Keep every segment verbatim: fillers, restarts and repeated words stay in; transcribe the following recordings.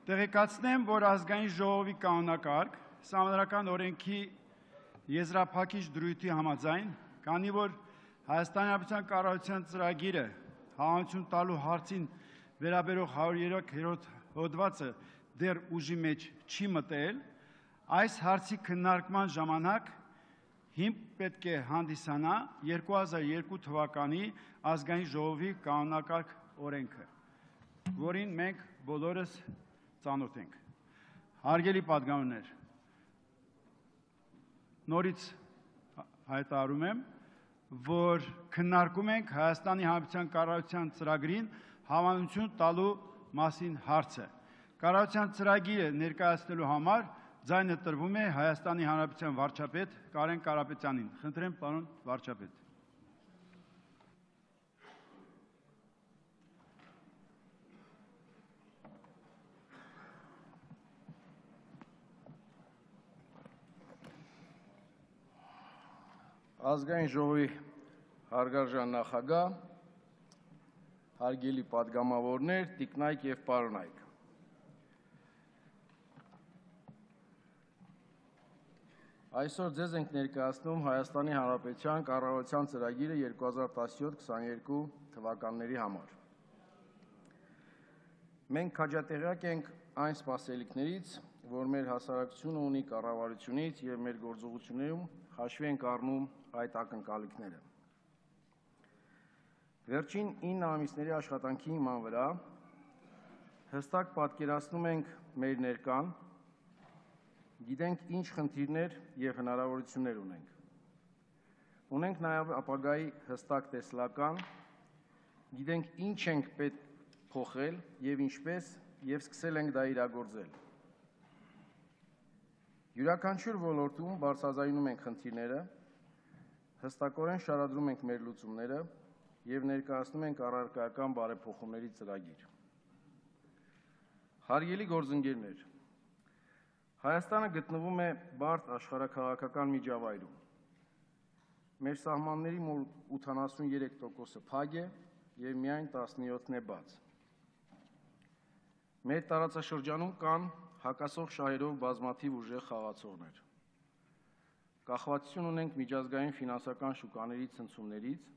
Տեղեկացնեմ, որ ազգային ժողովի կանոնակարգ Սահմանադրական օրենքի եզրափակիչ դրույթի համաձայն, քանի որ Հայաստանի Հանրապետության կառավարության ծրագիրը հավանություն տալու հարցին վերաբերող հարյուրերորդ հոդվածը դեռ ուժի մեջ չի մտել, այս հարցի քննարկման ժամանակ հիմք պետք է հանդիսանա երկու հազար երկու թվականի ազգային ժողովի կանոնակարգ օրենքը, որին մենք բոլորս ծանոթ ենք։ Հարգելի պատգամներ, նորից հայտարարում եմ, որ քննարկում ենք Հայաստանի Հանրապետության կառավարության ծրագրին հավանություն տալու մասին հարցը։ Կառավարության ծրագիրը ներկայացնելու համար ձայնը տրվում է Հայաստանի Հանրապետության վարչապետ Կարեն Կարապետյանին։ Խնդրեմ, պարոն վարչապետ։ Ազգային ժողովի հարգարժան նախագահ, հարգելի պատգամավորներ, տիկնայք և պարոնայք։ Այսօր ձեզ ենք ներկայացնում Հայաստանի Հանրապետության կառավարության ծրագիրը երկու հազար տասնյոթ քսաներկու թվականների համար։ Մենք քաջատեղյակ ենք այն սպասելիքներից, որ մեր հասարակությունը ունի կառավարությունից և մեր գործողություններում հաշվի ենք առնում այդ ակնկալիքները։ Վերջին ինը ամիսների աշխատանքի հիման վրա հստակ պատկերացնում ենք մեր ներկան, գիտենք ինչ խնդիրներ և հնարավորություններ ունենք։ Ունենք նաև ապագայի հստակ տեսլական, գիտենք ինչ ենք պետք փոխել և ինչպես և սկսել ենք դա իրագործել։ Յուրաքանչյուր ոլորտում բարձրաձայնում ենք խնդիրները, հստակորեն շարադրում ենք մեր լուծումները և ներկայացնում ենք առարկայական բարեփոխումների ծրագիր։ Հարգելի գործընկերներ, Հայաստանը գտնվում է բարդ աշխարհաքաղաքական միջավայրում։ Մեր սահմանների մոտ ութանասուներեք տոկոսը փակ է և միայն տասնյոթն է բաց։ Մեր տարածաշրջանում կան հակասող շահերով բազմաթիվ ուժեղ խաղացողներ։ Կախվածություն ունենք միջազգային ֆինանսական շուկաների ցնցումներից,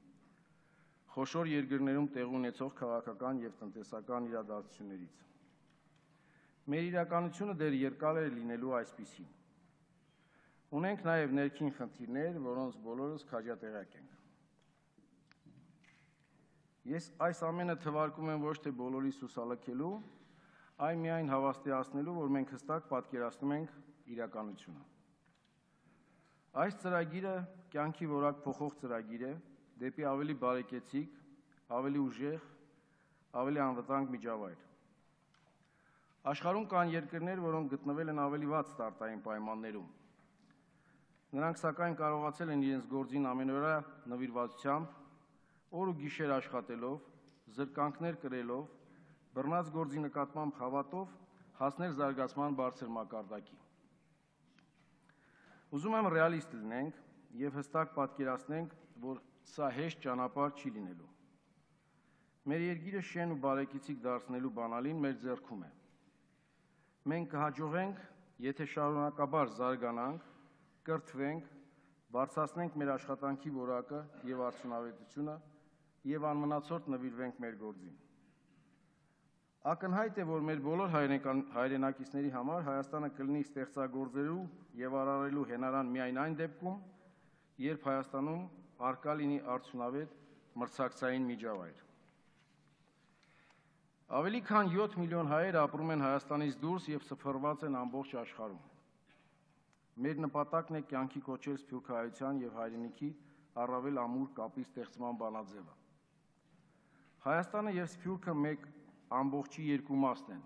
խոշոր երկրներում տեղի ունեցող քաղաքական և տնտեսական իրադարձություններից։ Մեր իրականությունը դեռ երկար է լինելու այսպիսին։ Ունենք նաև ներքին խնդիրներ, որոնց բոլորս քաջատեղյակ ենք։ Ես այս ամենը թվարկում եմ ոչ թե բոլորիս հուսալքելու, այլ միայն հավաստիացնելու, որ մենք հստակ պատկերացնում ենք իրականությունը։ Այս ծրագիրը կյանքի որակ փոխող ծրագիր է դեպի ավելի բարեկեցիկ, ավելի ուժեղ, ավելի անվտանգ միջավայր։ Աշխարհում կան երկրներ, որոնք գտնվել են ավելի վատ ստարտային պայմաններում։ Նրանք սակայն կարողացել են իրենց գործին ամենօրյա նվիրվածությամբ, օր ու գիշեր աշխատելով, զրկանքներ կրելով, բռնած գործի նկատմամբ հավատով հասնել զարգացման բարձր մակարդակի։ Ուզում եմ ռեալիստ լինենք և հստակ պատկերացնենք, որ սա հեշտ ճանապարհ չի լինելու։ Մեր երկիրը շեն ու բարեկեցիկ դարձնելու բանալին մեր ձեռքում է։ Մենք կհաջողենք, եթե շարունակաբար զարգանանք, կրթվենք, բարձրացնենք մեր աշխատանքի որակը և արդյունավետությունը և անմնացորդ նվիրվենք մեր գործին։ Ակնհայտ է, որ մեր բոլոր հայրենակիցների համար Հայաստանը կլինի ստեղծագործելու և արարելու հենարան միայն այն դեպքում, երբ Հայաստանում առկա լինի արդյունավետ մրցակցային միջավայր։ Ավելի քան յոթ միլիոն հայեր ապրում են Հայաստանից դուրս և սփռված են ամբողջ աշխարհում։ Մեր նպատակն է կյանքի կոչել սփյուռքահայության և հայրենիքի առավել ամուր կապի ստեղծման բանաձևը։ Հայաստանը և Սփյուռքը մեկ ամբողջի երկու մասն են,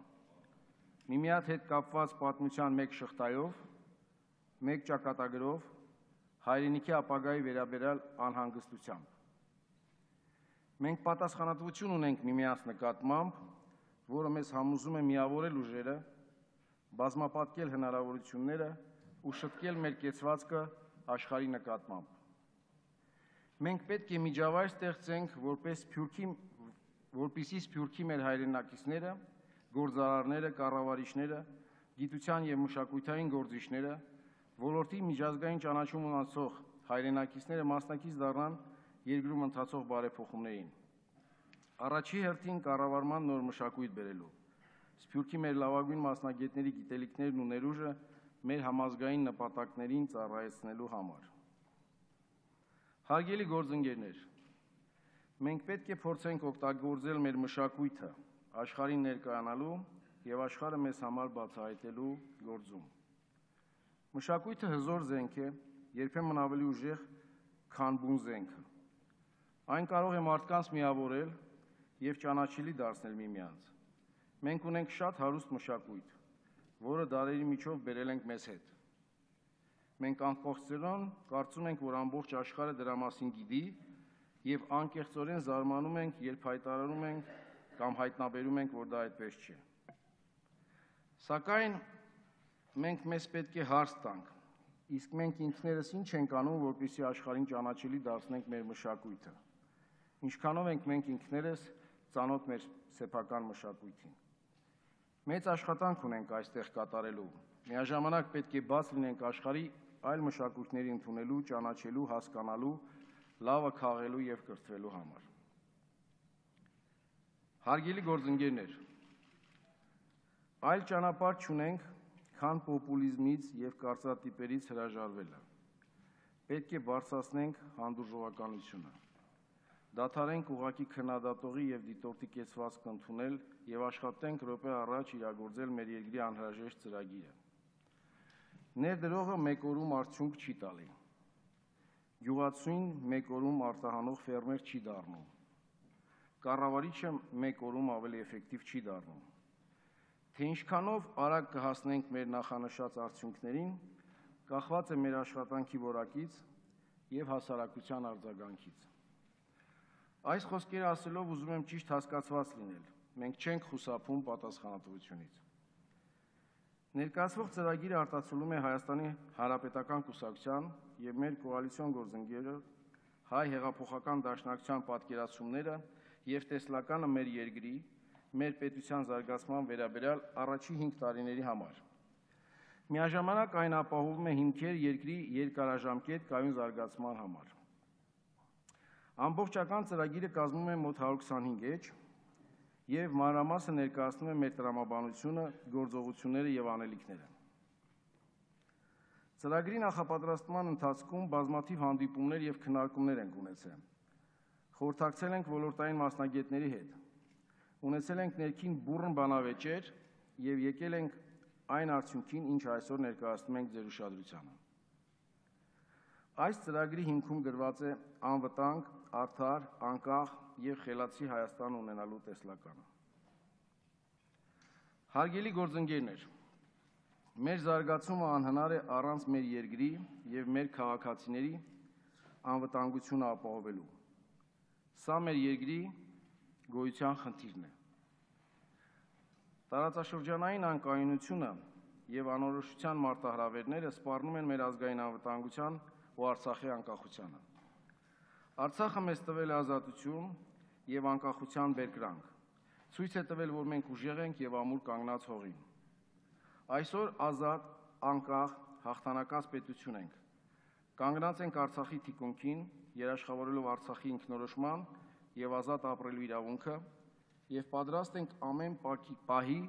միմյանց հետ կապված պատմության մեկ շղթայով, մեկ ճակատագրով, հայրենիքի ապագայի վերաբերյալ անհանգստությամբ։ Մենք պատասխանատվություն ունենք միմյանց նկատմամբ, որը մեզ համոզում է միավորել ուժերը, բազմապատկել հնարավորությունները ու շտկել մեր կեցվածքը աշխարհի նկատմամբ։ Մենք պետք է միջավայր ստեղծենք, որպես Սփյուռքի, որպեսզի Սփյուռքի մեր հայրենակիցները գործարարները, կառավարիչները, գիտության և մշակութային գործիչները, ոլորտի միջազգային ճանաչում ունեցող հայրենակիցները մասնակից դառնան երկրում ընթացող բարեփոխումներին։ Առաջի հերթին կառավարման նոր մշակույթ բերելու, Սփյուռքի մեր լավագույն մասնագետների գիտելիքներն ու ներուժը մեր համազգային նպատակներին ծառայեցնելու համար։ Հարգելի գործընկերներ, մենք պետք է փորձենք օգտագործել մեր մշակույթը աշխարհին ներկայանալու և աշխարհը մեզ համար բացահայտելու գործում։ Մշակույթը հզոր զենք է, երբեմն ավելի ուժեղ, քան բուն զենքը։ Այն կարող է մարդկանց միավորել և ճանաչելի դարձնել միմյանց։ Մենք ունենք շատ հարուստ մշակույթ, որը դարերի միջով բերել ենք մեզ հետ։ Մենք անկեղծորեն կարծում ենք, որ ամբողջ աշխարհը դրա մասին գիտի և անկեղծորեն զարմանում ենք, երբ հայտարարում ենք կամ հայտնաբերում ենք, որ դա այդպես չէ։ Սակայն մենք մեզ պետք է հարց տանք, իսկ մենք ինքներս ինչ ենք անում, որպեսզի աշխարհին ճանաչելի դարձնենք մեր մշակույթը։ Ինչքանով ենք մենք ինքներս ծանոթ մեր սեփական մշակույթին։ Մեծ աշխատանք ունենք այստեղ կատարելու, միաժամանակ պետք է բաց լինենք աշխարհի այլ մշակույթների ընդունելու, ճանաչելու, հասկանալու, լավը քաղելու և կրթվելու համար։ Հարգելի գործընկերներ, այլ ճանապարհ չունենք, քան պոպուլիզմից և կարծրատիպերից հրաժարվելը։ Պետք է բարձրացնենք հանդուրժողականությունը, դադարենք ուղղակի քննադատողի և դիտորդի կեցվածքը ընդունել և աշխատենք րոպե առաջ իրագործել մեր երկրի անհրաժեշտ ծրագիրը։ Ներդրողը մեկ օրում արդյունք չի տալի։ Գյուղացուն մեկ օրում արտահանող ֆերմեր չի դառնում։ Կառավարիչը մեկ օրում ավելի էֆեկտիվ չի դառնում։ Թե ինչքանով արագ կհասնենք մեր նախանշած արդյունքներին, կախված է մեր աշխատանքի որակից և հասարակության արձագանքից։ Այս խոսքերը ասելով ուզում եմ ճիշտ հասկացված լինել, մենք չենք խուսափում պատասխանատվությունից։ Ներկայացվող ծրագիրը արտացոլում է Հայաստանի Հանրապետական կուսակցության և մեր կոալիցիոն գործընկեր Հայ հեղափոխական դաշնակցության պատկերացումները և տեսլականը մեր երկրի, մեր պետության զարգացման վերաբերյալ առաջին հինգ տարիների համար։ Միաժամանակ այն ապահովում է հիմքեր երկրի երկարաժամկետ կայուն զարգացման համար։ Ամբողջական ծրագիրը կազմում է մոտ հարյուր քսանհինգ էջ և մանրամասը ներկայացնում է մեր տրամաբանությունը, գործողությունները և անելիքները։ Ծրագրի նախապատրաստման ընթացքում բազմաթիվ հանդիպումներ և քննարկումներ ենք ունեցել։ Խորհրդակցել ենք ոլորտային մասնագետների հետ, ունեցել ենք ներքին բուռն բանավեճեր և եկել ենք այն արդյունքին, ինչ այսօր ներկայացնում ենք ձեր ուշադրությանը։ Այս ծրագրի հիմքում դրված է անվտանգ, արդար, անկախ և խելացի Հայաստան ունենալու տեսլականը։ Հարգելի գործընկերներ, մեր զարգացումը անհնար է առանց մեր երկրի և մեր քաղաքացիների անվտանգությունը ապահովելու։ Սա մեր երկրի գոյության խնդիրն է։ Տարածաշրջանային անկայունությունը և անորոշության մարտահրավերները սպառնում են մեր ազգային անվտանգության ու Արցախի անկախությանը։ Արցախը մեզ տվել է ազատություն և անկախության բերկրանք, ցույց է տվել, որ մենք ուժեղ ենք և ամուր կանգնած հողին։ Այսօր ազատ, անկախ, հաղթանակած պետություն ենք, կանգնած ենք Արցախի թիկունքին, երաշխավորելով Արցախի ինքնորոշման և ազատ ապրելու իրավունքը և պատրաստ ենք ամեն պահի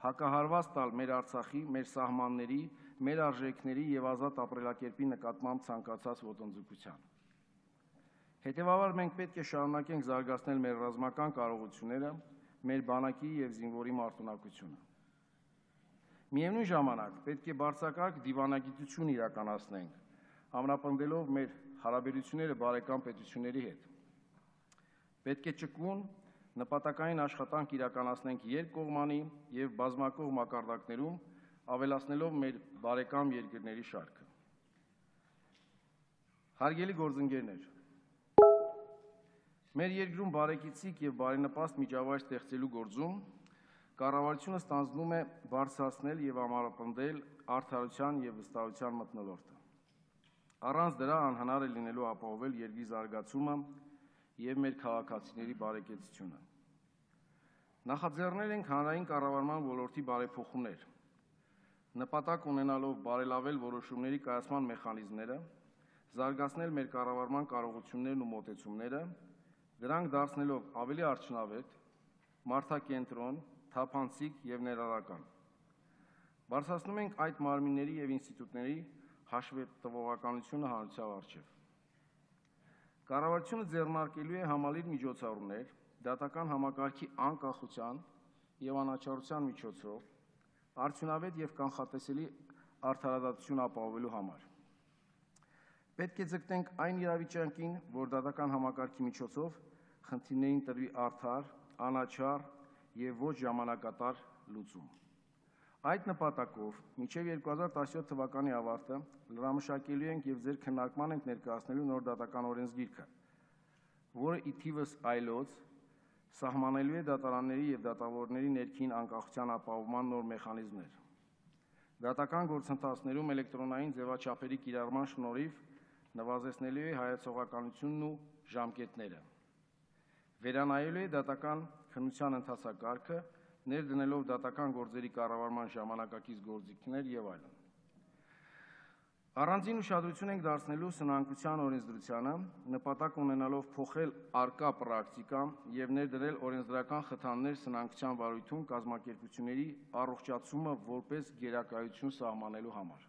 հակահարված տալ մեր Արցախի, մեր սահմանների, մեր արժեքների և ազատ ապրելակերպի նկատմամբ ցանկացած ոտնձգության։ Հետևաբար մենք պետք է շարունակենք զարգացնել մեր ռազմական կարողությունները, մեր բանակի և զինվորի մարտունակությունը։ Միևնույն ժամանակ պետք է բարձրակարգ դիվանագիտություն իրականացնենք, ամրապնդելով մեր հարաբերությունները բարեկամ պետությունների հետ։ Պետք է ճկուն, նպատակային աշխատանք իրականացնենք երկկողմանի և բազմակողմ մակարդակներում, ավելացնելով մեր բարեկամ երկրների շարքը։ Հարգելի գործընկերներ, մեր երկրում բարեկեցիկ և բարենպաստ միջավայր ստեղծելու գործում կառավարությունը ստանձնում է բարձրացնել և ամրապնդել արդարության և վստահության մթնոլորտը։ Առանց դրա անհնար է լինելու ապահովել երկրի զարգացումը և մեր քաղաքացիների բարեկեցությունը։ Նախաձեռնել ենք հանրային կառավարման ոլորտի բարեփոխումներ, նպատակ ունենալով բարելավել որոշումների կայացման մեխանիզմները, զարգացնել մեր կառավարման կարողություններն ու մոտեցումները, դրանք դարձնելով ավելի արդյունավետ, մարդակենտրոն, թափանցիկ եւ ներառական։ Բարձրացնում ենք այդ մարմինների եւ ինստիտուտների հաշվետվողականությունը հանրության առջեւ։ Կառավարությունը ձեռնարկելու է համալիր միջոցառումներ դատական համակարգի անկախության եւ անաչառության միջոցով արդյունավետ եւ կանխատեսելի արդարադատություն ապահովելու համար։ Պետք է ձգտենք այն իրավիճակին, որ դատական համակարգի միջոցով խնդիրներին տրվի արդար, անաչառ եւ ոչ ժամանակատար լուծում։ Այդ նպատակով մինչև երկու հազար տասնյոթ թվականի ավարտը լրամշակելու ենք եւ ձեր քննարկման ենք ներկայացնելու նոր դատական օրենսգիրքը, որը ի թիվս այլոց սահմանելու է դատարանների եւ դատավորների ներքին անկախության ապահովման նոր մեխանիզմներ։ Դատական գործընթացներում էլեկտրոնային ձևաչափերի կիրառման շնորհիվ նվազեցնելու է հայեցողականությունն ու ժամկետները։ Վերանայելու է դատական քննության ընթացակարգը, ներդնելով դատական գործերի կառավարման ժամանակակից գործիքներ եւ այլն։ Առանձին ուշադրություն ենք դարձնելու սնանկության օրենսդրությանը, նպատակ ունենալով փոխել առկա պրակտիկան եւ ներդրել օրենսդրական խթաններ սնանկության վարույթում կազմակերպությունների առողջացումը որպես գերակայություն սահմանելու համար։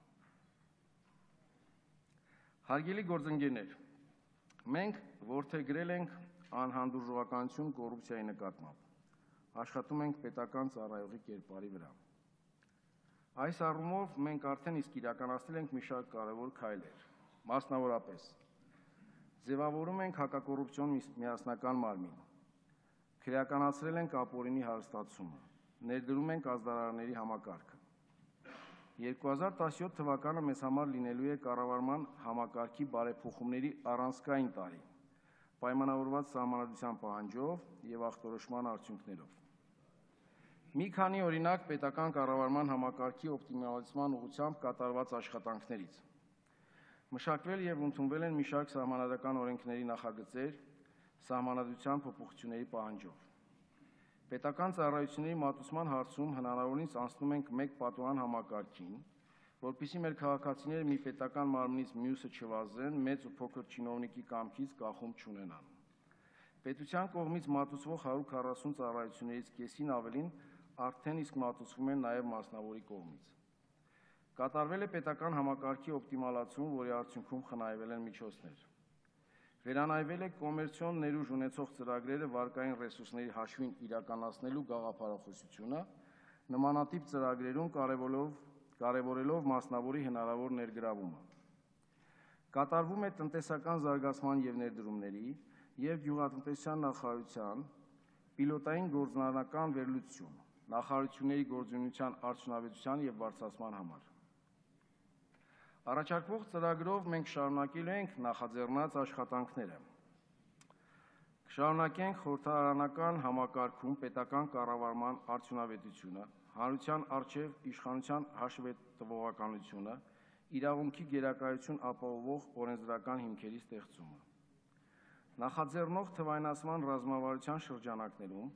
Հարգելի գործընկերներ, մենք որդեգրել ենք անհանդուրժողականություն կոռուպցիայի նկատմամբ, աշխատում ենք պետական ծառայողի կերպարի վրա։ Այս առումով մենք արդեն իսկ իրականացնել ենք մի շարք կարևոր քայլեր, մասնավորապես ձևավորում ենք հակակոռուպցիոն միասնական մարմին, քրեականացրել ենք ապօրինի հարստացումը, ներդրում ենք ազդարարների համակարգը։ երկու հազար տասնյոթ թվականը մեզ համար լինելու է կառավարման համակարգի բարեփոխումների առանցքային տարի, պայմանավորված սահմանադրության պահանջով եւ ախտորոշման արդյունքներով։ Մի քանի օրինակ պետական կառավարման համակարգի օպտիմալացման ուղղությամբ կատարված աշխատանքներից։ Մշակվել եւ ընդունվել են մի շարք սահմանադրական օրենքների նախագծեր սահմանադրության փոփոխությունների պահանջով։ Պետական ծառայությունների մատուցման հարցում հնարավորինս անցնում ենք մեկ պատուհան համակարգին, որպեսզի մեր քաղաքացիները մի պետական մարմնից մյուսը չվազեն, մեծ ու փոքր չինովնիկի կամքից կախում չունենան։ Պետության կողմից մատուցվող հարյուր քառասուն ծառայություններից կեսին ավելին արդեն իսկ մատուցվում են նաև մասնավորի կողմից։ Կատարվել է պետական համակարգի օպտիմալացում, որի արդյունքում խնայվել են միջոցներ։ Վերանայվել է կոմերցիոն ներուժ ունեցող ծրագրերը վարկային ռեսուրսների հաշվին իրականացնելու գաղափարախոսությունը, նմանատիպ ծրագրերում կարևորելով, կարևորելով մասնավորի հնարավոր ներգրավումը։ Կատարվում է տնտեսական զարգացման և ներդրումների և գյուղատնտեսության նախարարության պիլոտային գործնական վերլուծություն, նախարարությունների գործունեության արդյունավետության և բարձրացման համար։ Առաջարկվող ծրագրով մենք շարունակելու ենք նախաձեռնած աշխատանքները։ Կշարունակենք խորհրդարանական համակարգում պետական կառավարման արդյունավետությունը, հանրության առջև իշխանության հաշվետվողականությունը, իրավունքի գերակայություն ապահովող օրենսդրական հիմքերի ստեղծումը։ Նախաձեռնող թվայնացման ռազմավարության շրջանակներում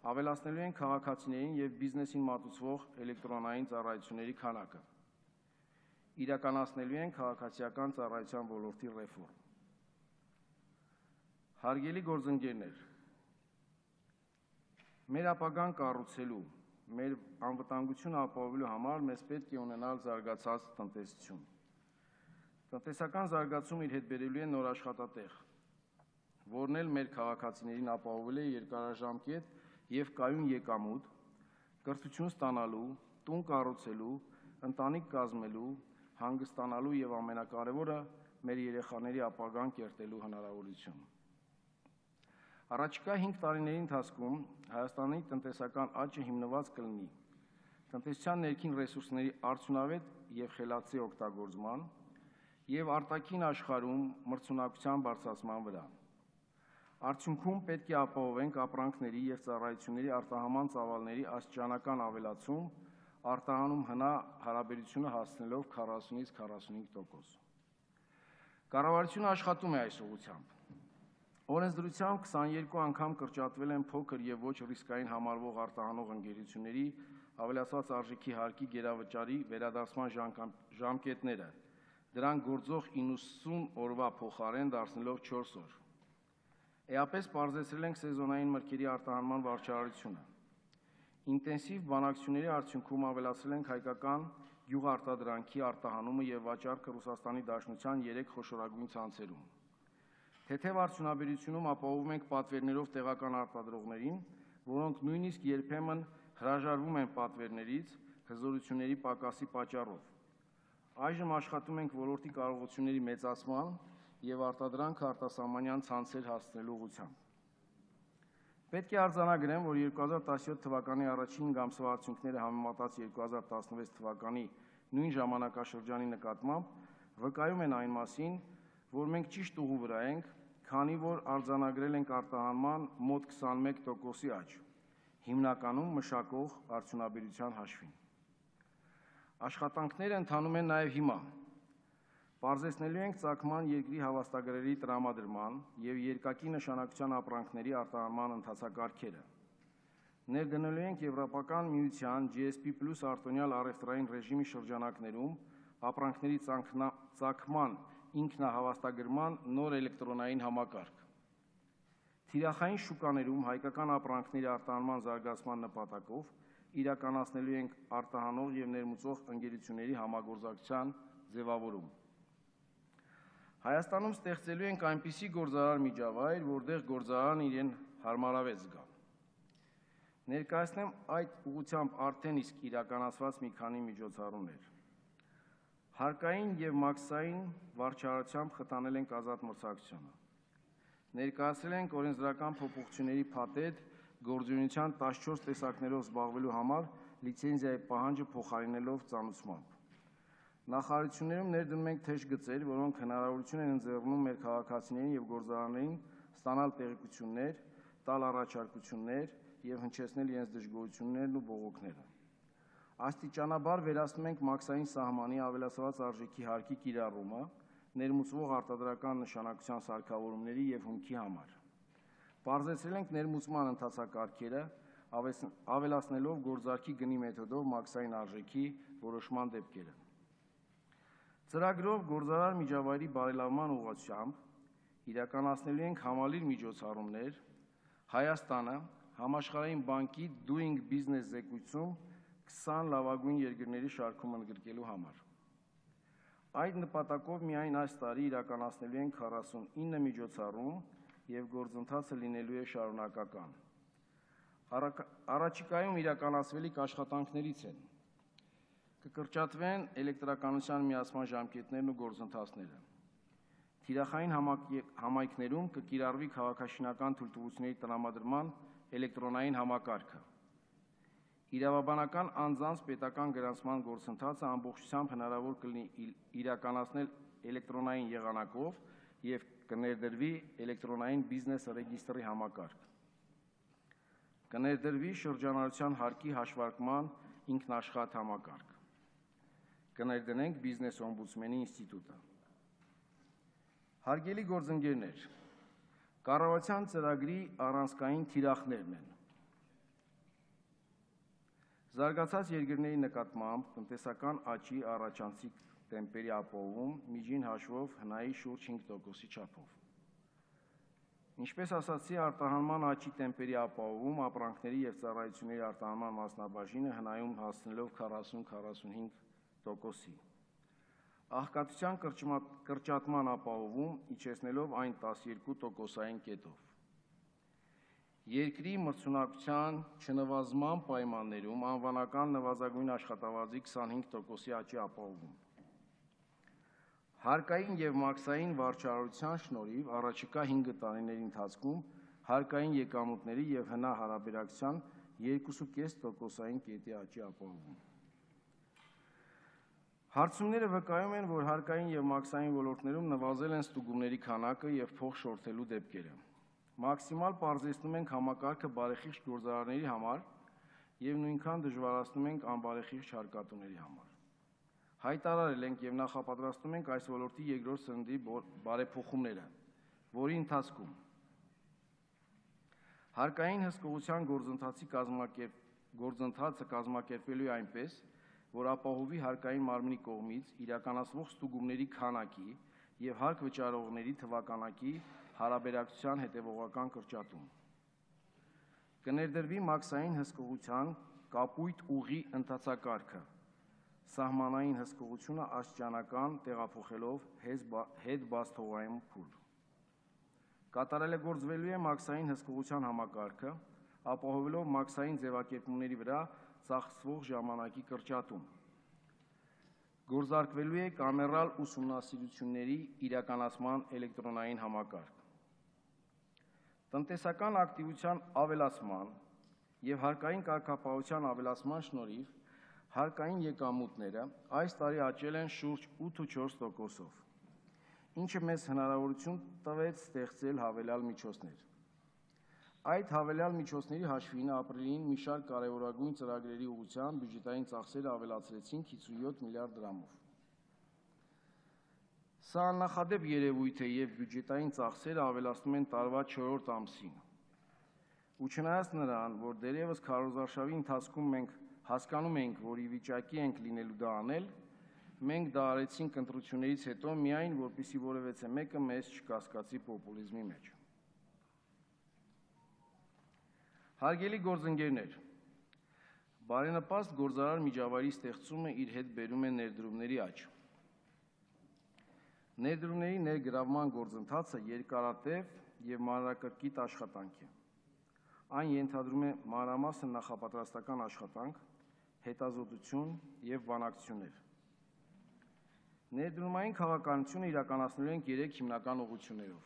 ավելացնելու են քաղաքացիներին և բիզնեսին մատուցվող էլեկտրոնային ծառայությունների քանակը։ Իրականացնելու են քաղաքացիական ծառայության ոլորտի ռեֆորմ։ Հարգելի գործընկերներ, մեր ապագան կառուցելու, մեր անվտանգությունը ապահովելու համար մեզ պետք է ունենալ զարգացած տնտեսություն։ Տնտեսական զարգացումը իր հետ բերելու է նոր աշխատատեղ, որն էլ մեր քաղաքացիներին ապահովել է երկարաժամկետ և կայուն եկամուտ, կրթություն ստանալու, տուն կառուցելու, ընտանիք կազմելու, հանգստանալու և ամենակարևորը մեր երեխաների ապագան կերտելու հնարավորություն։ Առաջիկա հինգ տարիների ընթացքում Հայաստանի տնտեսական աճը հիմնված կլինի տնտեսության ներքին ռեսուրսների արդյունավետ և խելացի օգտագործման և արտաքին աշխարհում մրցունակության բարձրացման վրա։ Արդյունքում պետք է ապահովենք ապրանքների և ծառայությունների արտահանման ծավալների աստիճանական ավելացում, արտահանում հնա հարաբերությունը հասցնելով քառասունից քառասունհինգ տոկոս։ Կառավարությունը աշխատում է այս ուղղությամբ։ Օրենսդրությամբ քսաներկու անգամ կրճատվել են փոքր եւ ոչ ռիսկային համարվող արտահանող ընկերությունների ավելացված արժեքի հարկի գերավճարի վերադարձման ժամկետները, դրան գործող իննսուն օրվա փոխարեն դարձնելով չորս օր։ Էապես պարզեցրել ենք սեզոնային մրգերի արտահանման վարչարարությունը։ Ինտենսիվ բանակցությունների արդյունքում ավելացրել ենք հայկական գյուղարտադրանքի արտահանումը եւ վաճառքը Ռուսաստանի Դաշնության երեք խոշորագույն ցանցերում։ Թեթև արդյունաբերությունում ապահովում ենք պատվերներով տեղական արտադրողներին, որոնք նույնիսկ երբեմն հրաժարվում են պատվերներից հզորությունների պակասի պատճառով։ Այժմ աշխատում ենք ոլորտի կարողությունների մեծացման եւ արտադրանքը արտասահմանյան ցանցեր հասցնելու ուղղությամբ։ Պետք է արձանագրեմ, որ երկու հազար տասնյոթ թվականի առաջին հինգ ամսվա արդյունքները համեմատած երկու հազար տասնվեց թվականի նույն ժամանակաշրջանի նկատմամբ վկայում են այն մասին, որ մենք ճիշտ ուղու վրա ենք, քանի որ արձանագրել ենք արտահանման մոտ քսանմեկ տոկոսի աճ, հիմնականում մշակող արդյունաբերության հաշվին։ Աշխատանքները ընթանում են նաև հիմա։ Պարզեցնելու ենք ծագման երկրի հավաստագրերի տրամադրման եւ երկակի նշանակության ապրանքների արտահանման ընթացակարգերը։ Ներդնելու ենք Եվրոպական միության G S P plus արտոնյալ առևտրային ռեժիմի շրջանակներում ապրանքների ծագման ինքնահավաստագրման նոր էլեկտրոնային համակարգ։ Թիրախային շուկաներում հայկական ապրանքների արտահանման զարգացման նպատակով իրականացնելու ենք արտահանող եւ ներմուծող ընկերությունների համագործակցության ձևավորում։ Հայաստանում ստեղծելու ենք այնպիսի գործարար միջավայր, որտեղ գործարարն իրեն հարմարավետ զգա։ Ներկայացնեմ այդ ուղղությամբ արդեն իսկ իրականացված մի քանի միջոցառումներ։ Հարկային եւ մաքսային վարչարարությամբ խթանել ենք ազատ մրցակցությունը։ Ներկայացրել ենք օրենսդրական փոփոխությունների փաթեթ գործունեության տասնչորս տեսակներով զբաղվելու համար լիցենզիայի պահանջը փոխարինելով ծանուցմամբ։ Նախարարություններում ներդնում ենք թեժ գծեր, որոնք հնարավորություն են ընձեռնում մեր քաղաքացիներին եւ գործարաններին ստանալ տեղեկություններ, տալ առաջարկություններ եւ հնչեցնել իրենց դժգոհություններն ու բողոքները։ Աստիճանաբար վերացնում ենք մաքսային սահմանի ավելացված արժեքի հարկի կիրառումը ներմուծվող արտադրական նշանակության սարքավորումների եւ հումքի համար։ Պարզեցրել ենք ներմուծման ընթացակարգերը, ավելացնելով գործարքի գնի մեթոդով մաքսային արժեքի որոշման դեպքերը։ Ծրագրով գործարար միջավայրի բարելավման ուղղությամբ իրականացնելու ենք համալիր միջոցառումներ Հայաստանը համաշխարհային բանկի Doing Business զեկույցում քսան լավագույն երկրների շարքում ընդգրկելու համար։ Այդ նպատակով միայն այս տարի իրականացնելու ենք քառասունինը միջոցառում եւ գործընթացը լինելու է շարունակական։ Առաջիկայում իրականացվելիք աշխատանքներից են կկրճատվեն էլեկտրականության միացման ժամկետներն ու գործընթացները։ Թիրախային համայնքներում կկիրառվի քաղաքաշինական թույլտվությունների տրամադրման էլեկտրոնային համակարգը։ Իրավաբանական անձանց պետական գրանցման գործընթացը ամբողջությամբ հնարավոր կլինի իրականացնել էլեկտրոնային եղանակով եւ կներդրվի էլեկտրոնային բիզնես ռեգիստրի համակարգ։ Կներդրվի շրջանառության հարկի հաշվարկման ինքնաշխատ համակարգ։ Կներդնենք բիզնես օմբուդսմենի ինստիտուտը։ Հարգելի գործընկերներ, կառավարության ծրագրի առանցքային թիրախներն են։ Զարգացած երկրների նկատմամբ տնտեսական աճի առաջանցիկ տեմպերի ապահովում միջին հաշվով հնայի շուրջ հինգ տոկոսի չափով։ Ինչպես ասացի, արտահանման աճի տեմպերի ապահովում ապրանքների եւ ծառայությունների արտահանման մասնաբաժինը հնայում հասցնելով քառասուն քառասունհինգ տոկոսի։ Աղքատության կրճատման ապահովում իջեցնելով այն տասներկու տոկոսային կետով։ Երկրի մրցունակության չնվազման պայմաններում անվանական նվազագույն աշխատավարձի քսանհինգ տոկոսի աճի ապահովում։ Հարկային եւ մաքսային վարչարարության շնորհիվ առաջիկա հինգ տարիների ընթացքում հարկային եկամուտների եւ հնա հարաբերակցության երկուսուկես տոկոսային կետի աճի ապահովում։ Հարցումները վկայում են, որ հարկային եւ մաքսային ոլորտներում նվազել են ստուգումների քանակը եւ փող շորթելու դեպքերը։ Մաքսիմալ պարզեցնում ենք համակարգը բարեխիղճ գործարարների համար եւ նույնքան դժվարացնում ենք անբարեխիղճ հարկատուների համար։ Հայտարարել ենք եւ նախապատրաստում ենք այս ոլորտի երկրորդ սննդի բարեփոխումները, որի ընթացքում Հարկային հսկողության գործընթացի կազմակերպ գործընթացը կազմակերպելու է այնպես, որ ապահովի հարկային մարմնի կողմից իրականացվող ստուգումների քանակի և հարկ վճարողների թվականակի հարաբերակցության հետևողական կրճատում։ Կներդրվի մաքսային հսկողության կապույտ ուղի ընթացակարգը, սահմանային հսկողությունը աստիճանական տեղափոխելով հետբացթողային փուլ։ Կատարելագործվելու է մաքսային հսկողության համակարգը, ապահովելով մաքսային ձևակերպումների վրա ծախսվող ժամանակի կրճատում։ Գործարկվելու է կամերալ ուսումնասիրությունների իրականացման էլեկտրոնային համակարգ։ Տնտեսական ակտիվության ավելացման և հարկային կարգապահության ավելացման շնորհիվ հարկային եկամուտները այս տարի աճել են շուրջ ութ փուլք չորս տոկոսով, ինչը մեզ հնարավորություն տվեց ստեղծել հավելյալ միջոցներ։ Այդ հավելյալ միջոցների հաշվին ապրիլին մի շարք կարևորագույն ծրագրերի ուղղությամբ բյուջետային ծախսերը ավելացրեցինք հիսունյոթ միլիարդ դրամով։ Սա աննախադեպ երևույթ է և բյուջետային ծախսերը ավելացնում են տարվա չորրորդ ամսին։ Ու չնայած նրան, որ դեռևս քարոզարշավի ընթացքում մենք հասկանում էինք, որ ի վիճակի ենք լինելու դա անել, մենք դա արեցինք ընտրություններից հետո միայն, որպեսզի որևէ մեկը մեզ չկասկածի պոպուլիզմի մեջ։ Հարգելի գործընկերներ, բարենպաստ գործարար միջավայրի ստեղծումը իր հետ բերում է ներդրումների աճ։ Ներդրումների ներգրավման գործընթացը երկարատև և մանրակրկիտ աշխատանք է։ Այն ենթադրում է մանրամասն նախապատրաստական աշխատանք, հետազոտություն և բանակցություններ։ Ներդրումային քաղաքականությունը իրականացնելու ենք երեք հիմնական ուղղություններով։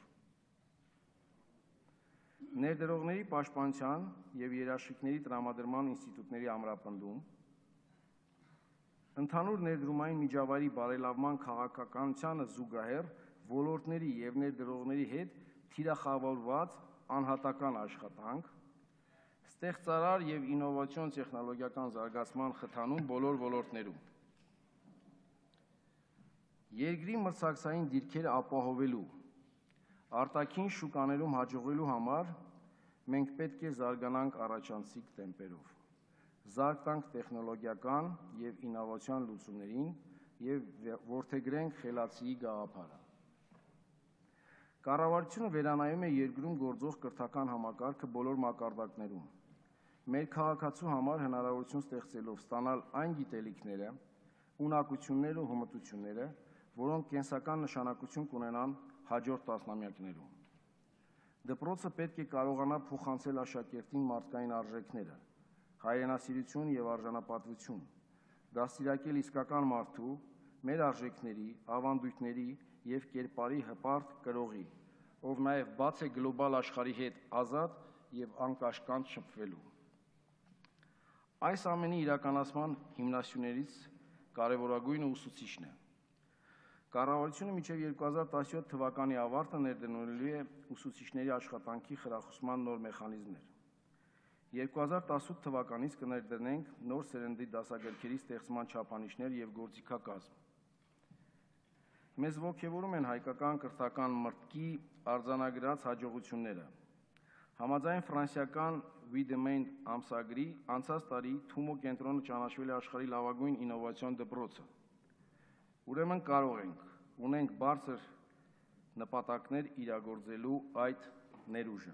Ներդրողների պաշտպանության և երաշխիքների տրամադրման ինստիտուտների ամրապնդում, ընդհանուր ներդրումային միջավայրի բարելավման քաղաքականությանը զուգահեռ ոլորտների և ներդրողների հետ թիրախավորված անհատական աշխատանք, ստեղծարար և ինովացիոն տեխնոլոգիական զարգացման խթանում բոլոր ոլորտներում։ Երկրի մրցակցային դիրքերը ապահովելու, արտաքին շուկաներում հաջողվելու համար մենք պետք է զարգանանք առաջանցիկ տեմպերով, զարգանանք տեխնոլոգիական և ինովացիոն լուծումներին և որդեգրենք խելացիի գաղափարը։ Կառավարությունը վերանայում է երկրում գործող կրթական համակարգը բոլոր մակարդակներում, մեր քաղաքացու համար հնարավորություն ստեղծելով ստանալ այն գիտելիքները, ունակություններն ու հմտությունները, որոնք կենսական նշանակություն կունենան հաջորդ տասնամյակներում։ Դպրոցը պետք է կարողանա փոխանցել աշակերտին մարդկային արժեքները, հայրենասիրություն և արժանապատվություն, դաստիարակել իսկական մարդու, մեր արժեքների, ավանդույթների և կերպարի հպարտ կրողի, ով նաև բաց է գլոբալ աշխարհի հետ ազատ և անկաշկանդ շփվելու։ Այս ամենի իրականացման հիմնասյուներից կարևորագույնը ուսուցիչն է։ Կառավարությունը մինչև երկու հազար տասնյոթ թվականի ավարտը ներդնելու է ուսուցիչների աշխատանքի խրախուսման նոր մեխանիզմներ։ երկու հազար տասնութ թվականից կներդնենք նոր սերնդի դասագրքերի ստեղծման չափանիշներ և գործիքակազմ։ Մեզ ոգևորում են հայկական կրթական մրցքի արձանագրած հաջողությունները։ Համաձայն ֆրանսիական Wiedemann ամսագրի անցած տարի Թումո կենտրոնը ճանաչվել է աշխարհի լավագույն ինովացիոն դպրոցը։ Ուրեմն կարող ենք, ունենք բարձր նպատակներ իրագործելու այդ ներուժը։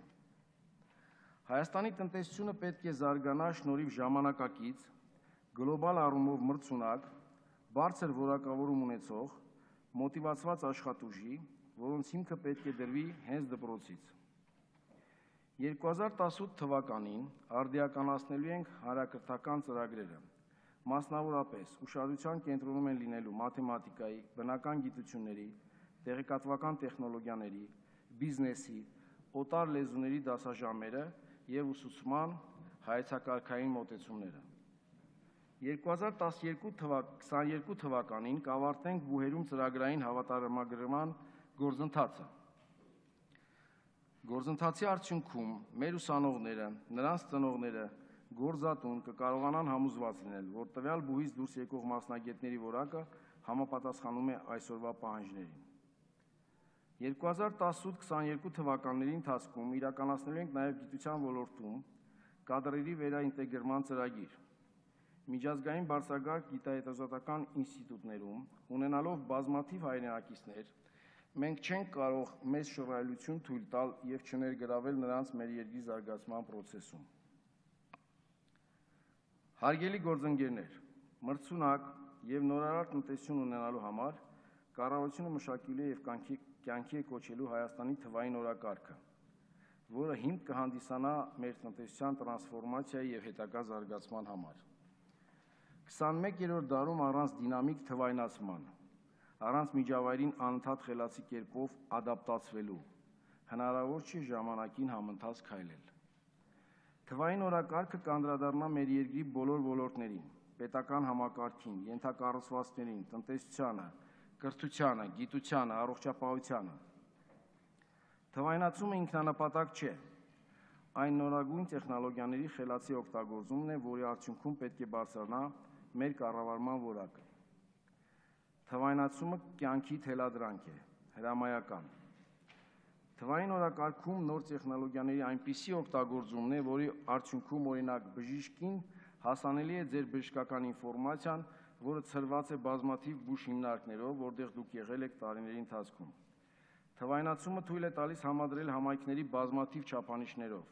Հայաստանի տնտեսությունը պետք է զարգանա շնորհիվ ժամանակակից, գլոբալ առումով մրցունակ, բարձր որակավորում ունեցող, մոտիվացված աշխատուժի, որոնց հիմքը պետք է դրվի հենց դպրոցից։ երկու հազար տասնութ թվականին արդիականացնելու ենք հանրակրթական ծրագրերը, մասնավորապես ուշադրության կենտրոնում են լինելու մաթեմատիկայի, բնական գիտությունների, տեղեկատվական տեխնոլոգիաների, բիզնեսի, օտար լեզուների դասաժամերը և ուսուցման հայեցակարգային մոտեցումները։ երկու հազար քսաներկու թվականին կավարտենք բուհերում ծրագրային հավատարմագրման գործընթացը։ Գործընթացի արդյունքում մեր ուսանողները, նրանց ծնողները, գործատուն կկարողանան համոզված լինել, որ տվյալ բուհից դուրս եկող մասնագետների որակը համապատասխանում է այսօրվա պահանջներին։ երկու հազար տասնութ քսաներկու թվականների ընթացքում իրականացնելու ենք նաև գիտության ոլորտում կադրերի վերաինտեգրման ծրագիր։ Միջազգային բարձրագույն գիտահետազոտական ինստիտուտներում ունենալով բազմաթիվ հայրենակիցներ, մենք չենք կարող մեծ շռայլություն թույլ տալ և չներգրավել նրանց մեր երկրի զարգացման process-ում։ Հարգելի գործընկերներ, մրցունակ և նորարար տնտեսություն ունենալու համար կառավարությունը մշակելու է և կյանքի է կոչելու Հայաստանի թվային օրակարգը, որը հիմք կհանդիսանա մեր տնտեսության տրանսֆորմացիայի և հետագա զարգացման համար։ քսանմեկերորդ դարում առանց դինամիկ թվայնացման, առանց միջավայրին անընդհատ խելացի կերպով ադապտացվելու, հնարավոր չի ժամանակին համընթաց քայլել։ Թվային օրակարգը կանդրադառնա մեր երկրի բոլոր ոլորտներին, պետական համակարգին, ենթակառուցվածքներին, տնտեսությանը, կրթությանը, գիտությանը, առողջապահությանը։ Թվայնացումը ինքնանպատակ չէ, այն նորագույն տեխնոլոգիաների խելացի օգտագործումն է, որի արդյունքում պետք է բարձրանա մեր կառավարման որակը։ Թվայնացումը կյանքի թելադրանք է, հրամայական։ Թվային օրակարգում նոր տեխնոլոգիաների այնպիսի օգտագործումն է, որի արդյունքում օրինակ բժիշկին հասանելի է ձեր բժշկական ինֆորմացիան, որը ցրված է բազմաթիվ բուժ հիմնարկներով, որտեղ դուք եղել եք տարիների ընթացքում։ Թվայնացումը թույլ է տալիս համադրել համայնքների բազմաթիվ չափանիշներով։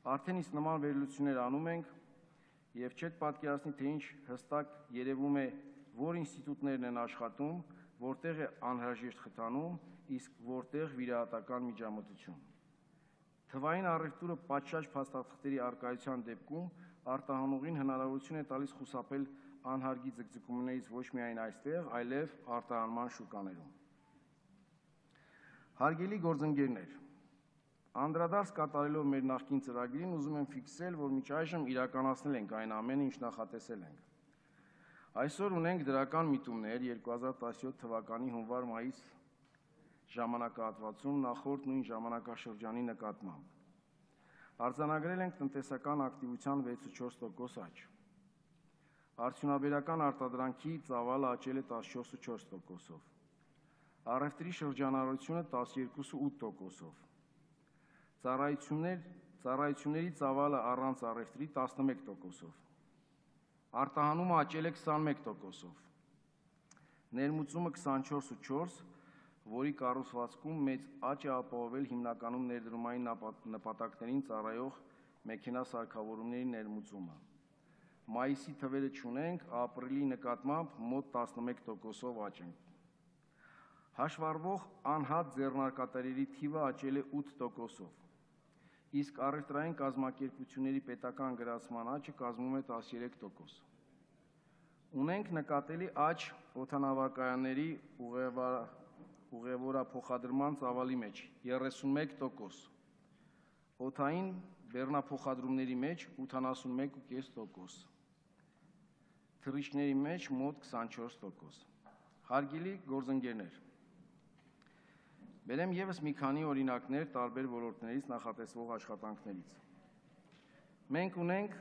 Արդեն իսկ նման վերլուծություններ անում ենք և չեք պատկերացնի, թե ինչ հստակ երևում է, որ ինստիտուտներն են աշխատում, որտեղ է անհրաժեշտ խթանում, իսկ որտեղ վիրահատական միջամտություն։ Թվային առևտուրը պատշաճ փաստաթղթերի առկայության դեպքում արտահանողին հնարավորություն է տալիս խուսափել անհարգի ձգձգումներից ոչ միայն այստեղ, այլև արտահանման շուկաներում։ Հարգելի գործընկերներ, անդրադարձ կատարելով մեր նախկին ծրագրին, ուզում եմ ֆիքսել, որ մինչ այժմ իրականացնել ենք այն ամենը, ինչ նախատեսել ենք։ Այսօր ունենք դրական միտումներ երկու հազար տասնյոթ թվականի հունվար-մայիս ժամանակահատվածում նախորդ նույն ժամանակաշրջանի նկատմամբ։ Արձանագրել ենք տնտեսական ակտիվության վեցուչորս տոկոս աճ։ Արդյունաբերական արտադրանքի ծավալը աճել է տասնչորս տոկոսով։ Առևտրի շրջանառությունը տասներկու տոկոսով։ Ծառայություններ, ծառայությունների ծավալը առանց առևտրի տասնմեկ տոկոսով։ Արտահանումը աճել է քսանմեկ տոկոսով։ Ներմուծումը քսանչորս տոկոս, որի կառուցվածքում մեծ աճ է ապահովել հիմնականում ներդրումային նպատակներին ծառայող մեքենասարքավորումների ներմուծումը։ Մայիսի թվերը չունենք, ապրիլի նկատմամբ մոտ տասնմեկ տոկոսով աճ ենք։ Հաշվառվող անհատ ձեռնարկատերերի թիվը աճել է ութ տոկոսով, իսկ առևտրային կազմակերպությունների պետական գրանցման աճը կազմում է տասներեք տոկոս։ Ունենք նկատելի աճ օդանավակայանների ուղևորափոխադրման ծավալի մեջ երեսունմեկ տոկոս, օդային բեռնափոխադրումների մեջ ութանասունմեկ տասնմեկ տոկոս, թռիչքների մեջ մոտ քսանչորս տոկոս։ Հարգելի գործընկերներ, բերեմ ևս մի քանի օրինակներ տարբեր ոլորտներից նախատեսվող աշխատանքներից։ Մենք ունենք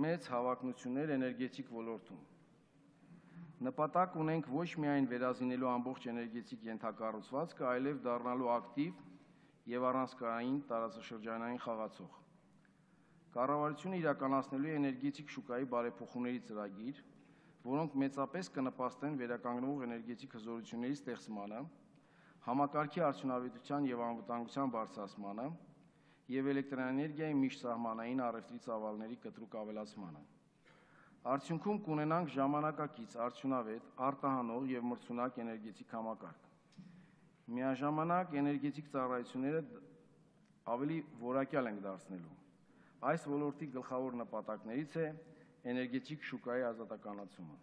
մեծ հավակնություններ էներգետիկ ոլորտում։ Նպատակ ունենք ոչ միայն վերազինելու ամբողջ էներգետիկ ենթակառուցվածքը, այլև դառնալու ակտիվ և առանցքային տարածաշրջանային խաղացող։ Կառավարությունը իրականացնելու է էներգետիկ շուկայի բարեփոխումների ծրագիր, որոնք մեծապես կնպաստեն վերականգնվող էներգետիկ հզորությունների ստեղծմանը, համակարգի արդյունավետության և անվտանգության բարձրացմանը և էլեկտրաէներգիայի միջսահմանային առևտրի ծավալների կտրուկ ավելացմանը։ Արդյունքում կունենանք ժամանակակից, արդյունավետ, արտահանող և մրցունակ էներգետիկ համակարգ։ Միաժամանակ էներգետիկ ծառայությունները ավելի որակյալ ենք դարձնելու։ Այս ոլորտի գլխավոր նպատակներից է էներգետիկ շուկայի ազատականացումը։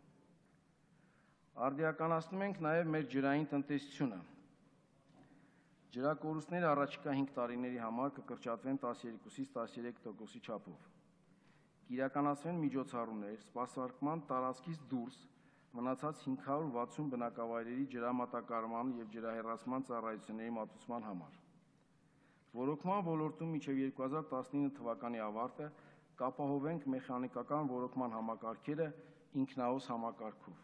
Արդիականացնում ենք նաև մեր ջրային տնտեսությունը։ Ջրակորուստները առաջիկա հինգ տարիների համար կկրճատվեն տասներկուից տասներեք տոկոսի չափով։ Կիրականացվեն միջոցառումներ սպասարկման տարածքից դուրս մնացած հինգ հարյուր վաթսուն բնակավայրերի ջրամատակարարման և ջրահեռացման ծառայությունների մատուցման համար։ Ոռոգման ոլորտում մինչև երկու հազար տասնինը թվականի ավարտը կապահովենք մեխանիկական ոռոգման համակարգերը ինքնահոս համակարգով։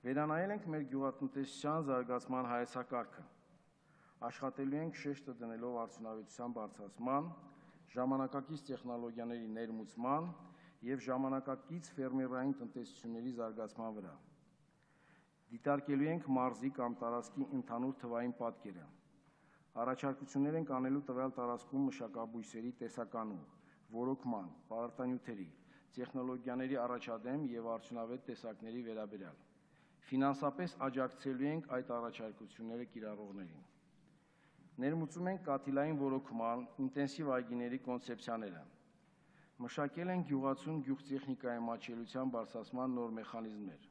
Վերանայել ենք մեր գյուղատնտեսության զարգացման հայեցակարգը, աշխատելու ենք շեշտը դնելով արդյունավետության բարձրացման, ժամանակակից տեխնոլոգիաների ներմուծման և ժամանակակից ֆերմերային տնտեսությունների զարգացման վրա։ Դիտարկելու ենք մարզի կամ տարածքի ընդհանուր թվային պատկերը։ Առաջարկություններ ենք անելու տվյալ տարածքում մշակաբույսերի տեսականու, որոքման, պարարտանյութերի, տեխնոլոգիաների առաջադեմ և արդյունավետ տեսակների վերաբերյալ։ Ֆինանսապես աջակցելու ենք այդ առաջարկությունները կիրառողներին։ Ներմուծում ենք կաթիլային որոքման, ինտենսիվ այգիների կոնցեպցիաները։ Մշակել ենք գյուղացուն գյուղտեխնիկայի մատչելիության բարձրացման նոր մեխանիզմներ։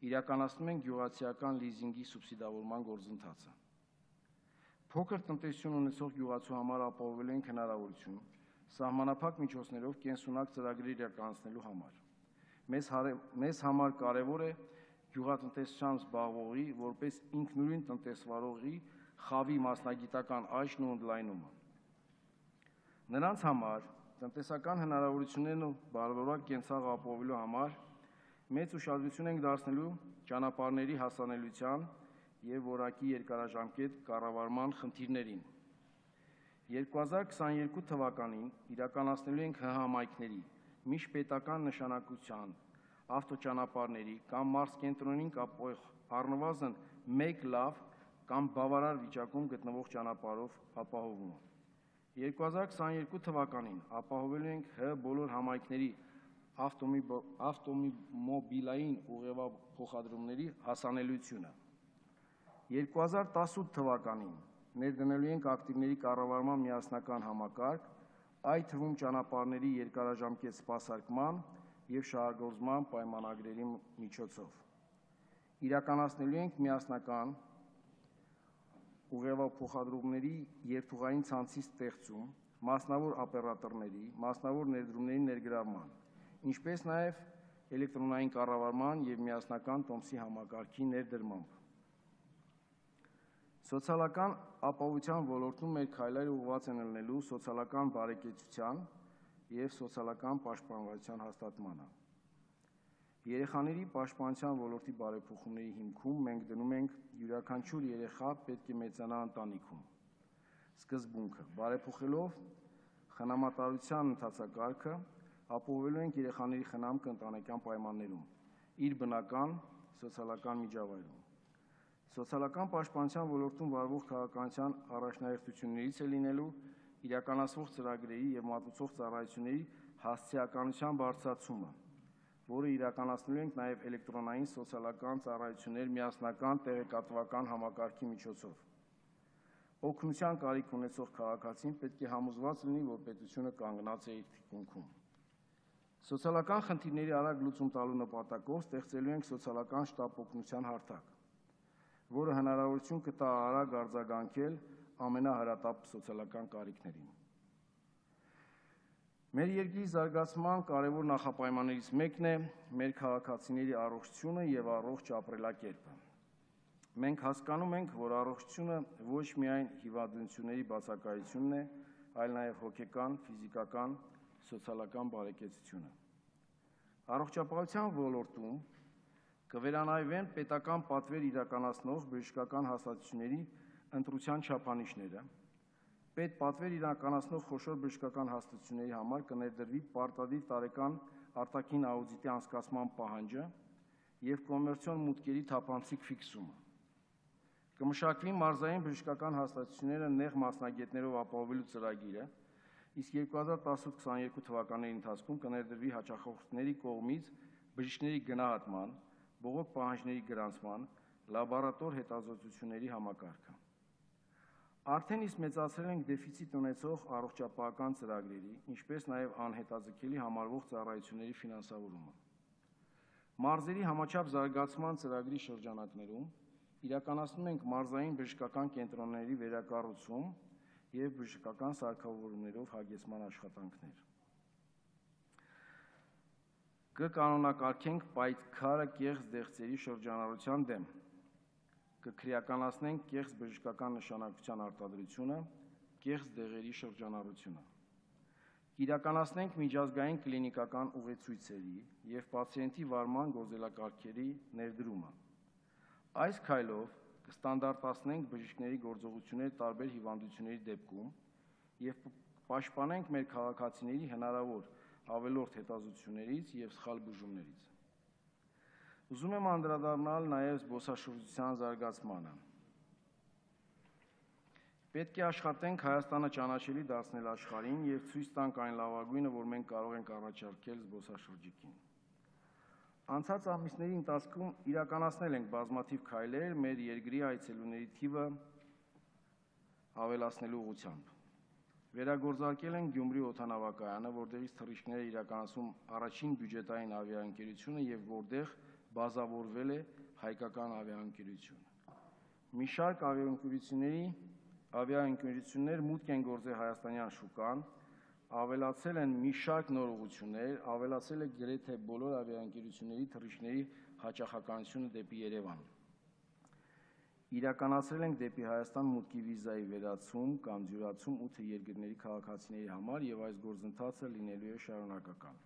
Իրականացնում ենք գյուղացիական լիզինգի սուբսիդավորման գործընթացը։ Փոքր տնտեսություն ունեցող գյուղացու համար ապահովելու ենք հնարավորություն սահմանափակ միջոցներով կենսունակ ծրագրեր իրականացնելու համար։ Մեզ, մեզ համար կարևոր է գյուղատնտեսությամբ զբաղվողի որպես ինքնուրույն տնտեսվարողի խավի մասնագիտական աճն ու ընդլայնումը։ Նրանց համար տնտեսական հնարավորություններն ու բարվորակ կենցաղ ապահովելու համար մեծ ուշադրություն ենք դարձնելու ճանապարհների հասանելիության և որակի երկարաժամկետ կառավարման խնդիրներին։ երկու հազար քսաներկու թվականին իրականացնելու ենք Հ համայնքների միջպետական նշանակության ավտոճանապարհների կամ մարզկենտրոնին կապող առնվազն մեկ լավ կամ բավարար վիճակում գտնվող ճանապարհով ապահովումը։ երկու հազար քսաներկու թվականին ապահովելու ենք Հ բոլոր համայնքների ավտոմոբիլային ուղևափոխադրումների հասանելիությունը։ երկու հազար տասնութ թվականին ներդնելու ենք ակտիվների կառավարման միասնական համակարգ, այդ թվում ճանապարհների երկարաժամկետ սպասարկման և շահագործման պայմանագրերի միջոցով։ Իրականացնելու ենք միասնական ուղևափոխադրումների երթուղային ցանցի ստեղծում, մասնավոր օպերատորների, մասնավոր ներդրումների ներգրավման, ինչպես նաև էլեկտրոնային կառավարման և միասնական տոմսի համակարգի ներդրմամբ։ Սոցիալական ապահովության ոլորտում մեր քայլերը ուղղված են ելնելու սոցիալական բարեկեցության և սոցիալական պաշտպանվածության հաստատմանը։ Երեխաների պաշտպանության ոլորտի բարեփոխումների հիմքում մենք դնում ենք յուրաքանչյուր երեխա պետք է մեծանա ընտանիքում սկզբունքը, բարեփոխելով խնամատարության ընթացակարգը, ապահովելու ենք երեխաների խնամքը ընտանեկան պայմաններում, իր բնական սոցիալական միջավայրում։ Սոցիալական պաշտպանության ոլորտում վարվող քաղաքականության առաջնահերթություններից է լինելու իրականացվող ծրագրերի և մատուցող ծառայությունների հասցեականության բարձրացումը, որը իրականացնելու ենք նաև էլեկտրոնային սոցիալական ծառայություններ միասնական տեղեկատվական համակարգի միջոցով։ Օգնության կարիք ունեցող քաղաքացին պետք է համոզված լինի, որ պետությունը կանգնած է իր թիկունքում։ Սոցիալական խնդիրների արագ լուծում տալու նպատակով ստեղծելու ենք սոցիալական շտապ օգնության հարթակ, որը հնարավորություն կտա արագ արձագանքել ամենահրատապ սոցիալական կարիքներին։ Մեր երկրի զարգացման կարևոր նախապայմաններից մեկն է մեր քաղաքացիների առողջությունը և առողջ ապրելակերպը։ Մենք հասկանում ենք, որ առողջությունը ոչ միայն հիվանդությունների բացակայությունն է, այլ նաև հոգեկան, ֆիզիկական, սոցիալական բարեկեցությունը։ Առողջապահության ոլորտում կվերանայվեն պետական պատվեր իրականացնող բժշկական հաստատությունների ընտրության չափանիշները, պետպատվեր իրականացնող խոշոր բժշկական հաստատությունների համար կներդրվի պարտադիր տարեկան արտաքին աուդիտի անցկացման պահանջը և կոմերցիոն մուտքերի թափանցիկ ֆիքսումը։ Կմշակվի մարզային բժշկական հաստատությունները նեղ մասնագետներով ապահովելու ծրագիրը, իսկ երկու հազար տասնութ քսաներկու թվականների ընթացքում կներդրվի հաճախորդների կողմից բժիշկների գնահատման, բողոք պահանջների գրանցման, լաբորատոր հետազոտությունների համակարգը։ Արդեն իսկ մեծացրել ենք դեֆիցիտ ունեցող առողջապահական ծրագրերի, ինչպես նաև անհետաձգելի համարվող ծառայությունների ֆինանսավորումը։ Մարզերի համաչափ զարգացման ծրագրի շրջանակներում իրականացնում ենք մարզային բժշկական կենտրոնների վերակառուցում և բժշկական սարքավորումներով հագեցման աշխատանքներ։ Կկանոնակարգենք պայքարը կեղծ դեղձերի շրջանառության դեմ, կքրեականացնենք կեղծ բժշկական նշանակության արտադրությունը, կեղծ դեղերի շրջանառությունը։ Կիրականացնենք միջազգային կլինիկական ուղեցույցերի և պացիենտի վարման գործելակարգերի ներդրումը։ Այս քայլով կստանդարտացնենք բժիշկների գործողություններ տարբեր հիվանդությունների դեպքում և պաշտպանենք մեր քաղաքացիների հնարավոր ավելորդ հետազոտություններից և սխալ բուժումներից։ Ուզում եմ անդրադառնալ նաև զբոսաշրջության զարգացմանը։ Պետք է աշխատենք Հայաստանը ճանաչելի դարձնել աշխարհին և ցույց տանք այն լավագույնը, որ մենք կարող ենք առաջարկել զբոսաշրջիկին։ Անցած ամիսների ընթացքում իրականացնել ենք բազմաթիվ քայլեր մեր երկրի այցելուների թիվը ավելացնելու ուղղությամբ։ Վերագործարկել ենք Գյումրի օդանավակայանը, որտեղից թռիչքներ է իրականացում առաջին բյուջետային ավիաընկերությունը և որտեղ բազավորվել է հայկական ավիաընկերությունը։ Մի շարք ավիաընկերությունների ավիաընկերություններ մուտք են գործել հայաստանյան շուկան, ավելացել են մի շարք նոր ուղղություններ, ավելացել է գրեթե բոլոր ավիաընկերությունների թռիչքների հաճախականությունը դեպի Երևան։ Իրականացրել ենք դեպի Հայաստան մուտքի վիզայի վերացում կամ ջրացում ութ երկրների քաղաքացիների համար և այս գործընթացը լինելու է շարունակական։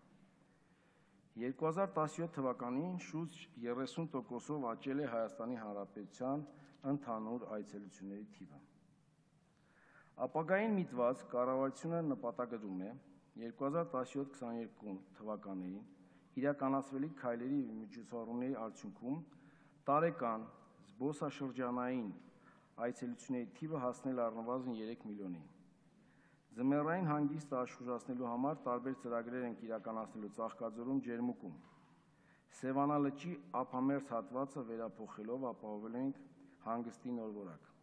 երկու հազար տասնյոթ թվականին շուրջ երեսուն տոկոսով աճել է Հայաստանի Հանրապետության ընդհանուր այցելությունների թիվը։ Ապագային միտված կառավարությունը նպատակադրում է երկու հազար տասնյոթ քսաներկու թվականներին իրականացվելիք քայլերի և միջոցառումների արդյունքում տարեկան զբոսաշրջանային այցելությունների թիվը հասնել առնվազն երեք միլիոնի։ Ձմեռային հանգիստը աշխուժացնելու համար տարբեր ծրագրեր ենք իրականացնելու Ծաղկաձորում, Ջերմուկում։ Սևանալճի ափամերձ հատվածը վերափոխելով ապահովելու ենք հանգստի նոր որակ։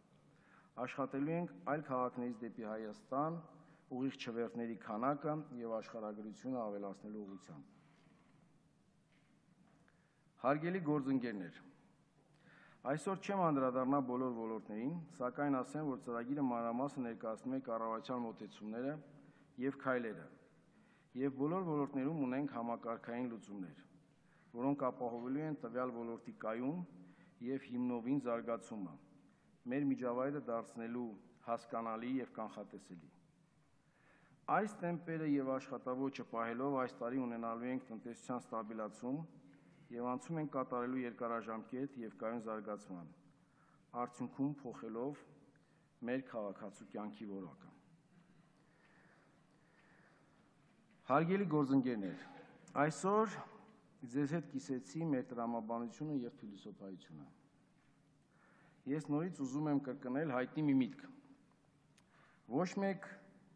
Աշխատելու ենք այլ քաղաքներից դեպի Հայաստան ուղիղ չվերթների քանակը և աշխարհագրությունը ավելացնելու ուղղությամբ։ Հարգելի գործընկերներ, այսօր չեմ անդրադառնա բոլոր ոլորտներին, սակայն ասեմ, որ ծրագիրը մանրամասն ներկայացնում է կառավարության մոտեցումները և քայլերը, և բոլոր ոլորտներում ունենք համակարգային լուծումներ, որոնք ապահովելու են տվյալ ոլորտի կայուն և հիմնովին զարգացումը, մեր միջավայրը դարձնելու հասկանալի և կանխատեսելի։ Այս տեմպերը և աշխատաոճը պահելով այս տարի ունենալու ենք տնտեսության ստաբիլացում և անցում ենք կատարելու երկարաժամկետ և կայուն զարգացման, արդյունքում փոխելով մեր քաղաքացու կյանքի որակը։ Հարգելի գործընկերներ, այսօր ձեզ հետ կիսեցի մեր տրամաբանությունը և փիլիսոփայությունը։ Ես նորից ուզում եմ կրկնել հայտնի մի միտք. ոչ մեկ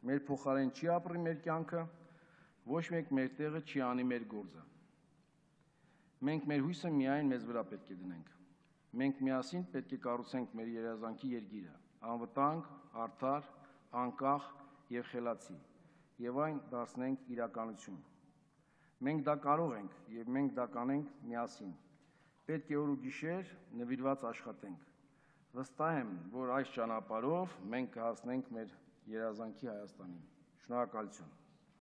մեր փոխարեն չի ապրի մեր կյանքը, ոչ մեկ մեր տեղը չի անի մեր գործը։ Մենք մեր հույսը միայն մեզ վրա պետք է դնենք։ Մենք միասին պետք է կառուցենք մեր երազանքի երկիրը, անվտանգ, արդար, անկախ և խելացի, և այն դարձնենք իրականություն։ Մենք դա կարող ենք, և մենք դա կանենք միասին։ Պետք է օր ու գիշեր նվիրված աշխատենք։ Վստահ եմ, որ այս ճանապարհով մենք կհասնենք մեր երազանքի Հայաստանին։ Շնորհակալություն։